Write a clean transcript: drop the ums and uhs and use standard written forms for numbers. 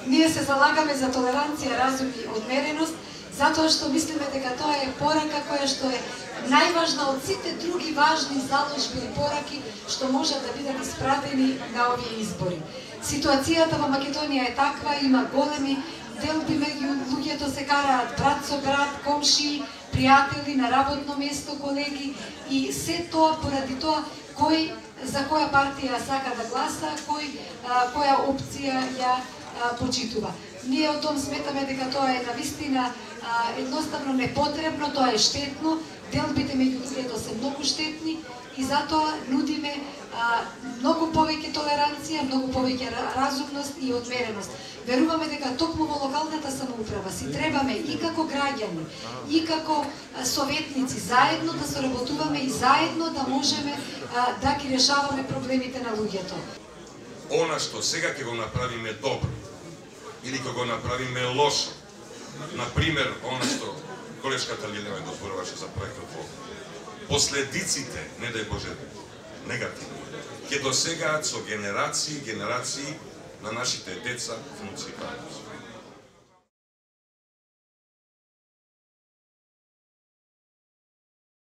ние се залагаме за толеранција, разум и одмереност, затоа што мислиме дека тоа е порака која што е најважна од сите други важни заложби и пораки што можат да бидат испратени на овие избори. Ситуацијата во Македонија е таква, има големи делби меѓу луѓето, се караат брат со брат, комшии, пријатели, на работно место, колеги, и се тоа поради тоа кој за која партија сака да гласа, која опција ја почитува. Ние од том сметаме дека тоа е навистина едноставно непотребно, тоа е штетно, делбите меѓу луѓето се многу штетни и затоа нудиме многу повеќе толеранција, многу повеќе разумност и одмереност. Веруваме дека токму во локалната самоуправа си требаме и како граѓани, и како советници заедно да соработуваме и заедно да можеме да ги решаваме проблемите на луѓето. Она што сега ќе го направиме добро или ќе го направиме лошо, например, она што колешката Лилева го зборуваше за проектот во последиците, не дај Боже, негативни, ќе досегаат со генерации на нашите деца, внуци и правнуци.